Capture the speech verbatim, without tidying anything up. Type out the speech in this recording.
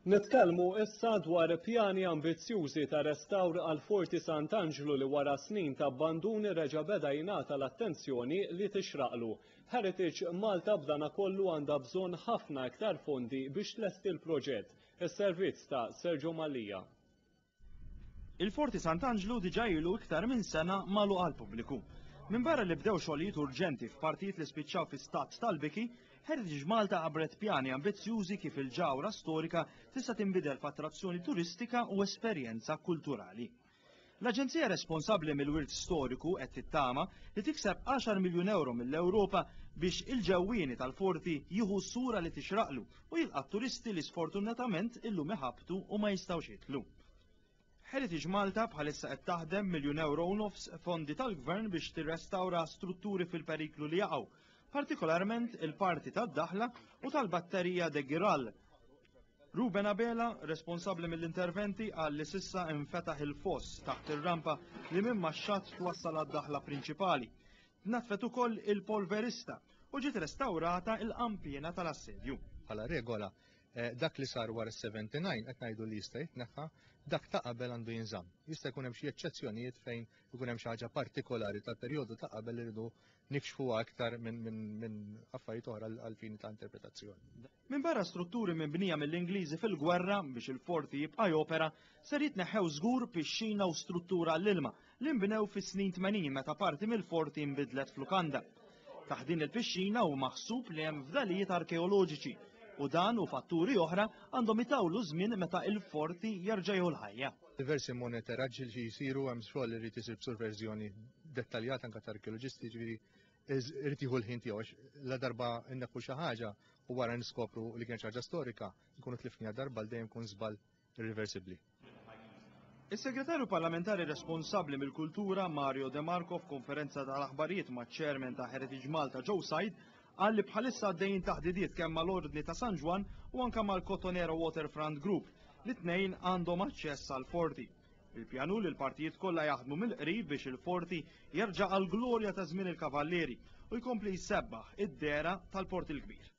Nitkellmu issa dwar pjani ambizzjużi ta' restawr għal Forti Sant'Anġlu li wara snin ta' abbandun reġa' beda jingħata l-attenzjoni li tixraqlu. Heritage Malta b'dana kollu għandha bżonn ħafna iktar fondi biex tlesti l-proġett. Is-servizz ta' Sergio Mallia. Il-Forti Sant'Anġlu diġà ilu iktar minn sena magħluq għall-pubbliku. Minbarra li bdew xogħlijiet urġenti f'partijiet li spiċċaw fi stat tal-biki, Heritage Malta ħabbret pjani ambizzjużi kif il-ġawra storika tista' tinbidel f'attrazzjoni turistika u esperjenza kulturali. L-Aġenzija responsabbli mill-wirt storiku qed tittama li tikseb għaxar miljun euro mill-Ewropa biex il-ġewwieni tal-forti jieħu sura li tixraqlu u jilqa' turisti li sfortunatament illum iħabtu u ma jistgħux jidħlu. Heritage Malta bħalissa qed taħdem miljun euro u nofs fondi tal-gvern biex tirrestawra strutturi fil-periklu li jaqgħu, partikolarment il-parti tad-daħla u tal-batterija de Giral. Ruben Abela, responsabbli mill-interventi, qal li s'issa infetaħ il-foss taħt ir-rampa li minn max-xatt twassal għad-daħla prinċipali. Tnaddfet ukoll il-polverista u ġiet restawrata il-qampiena tal-assedju. Bħala regola, dak li sar wara sebgħa u sebgħin qed ngħidu li jista' jitneħħa, dak ta' qabel għandu jinżamm. Jista' jkun hemm xi eċċezzjonijiet fejn ikun hemm xi ħaġa partikolari tal-perjodu ta' qabel li rridu nikxfuha aktar minn min, min affarijiet oħra għal fini ta' interpretazzjoni. Minn barra strutturi mibnija mill-Ingliżi fil-gwerra biex il-forti jibqa' jopera, ser jitneħħew żgur pixxina u struttura l-ilma li nbnew fis-snin tmenin meta parti mill-forti nbidlet f'lukanda. Taħt din il-pixxina hu maħsub li hemm fdalijiet arkeoloġiċi u dan u fatturi oħra għandhom itawlu żmien meta il-forti jerġa' jieħu l-ħajja. Diversi monitoraġġi li jsiru, hemm xogħol li jrid isir b'superviżjoni dettaljata anke ta' arkeoloġisti, ġifieri irid jieħu l-ħin tiegħu għax la darba inneħħu xi ħaġa u wara niskopru li kien xi ħaġa storika, nkunu tlifniha darba għal dejjem, kun żball irreversibbli. Is-segretarju parlamentari responsabbli mill-kultura Mario De Marco, f'konferenza tal-aħbarijiet ma' chairman ta' Heritage Malta Joe Said, qal li bħalissa għaddejjin taħdidiet kemm mal-Ordni ta' San Ġwann u anke mal-Cottonera Waterfront Group li tnejn għandhom aċċess għal forti. Il-pjan hu li l-partijiet kollha jaħdmu mill-qrib biex il-forti jerġa' għal glorja ta' żmien il-Kavallieri u jkompli jsebbaħ id-dehra tal-Port il-Kbir.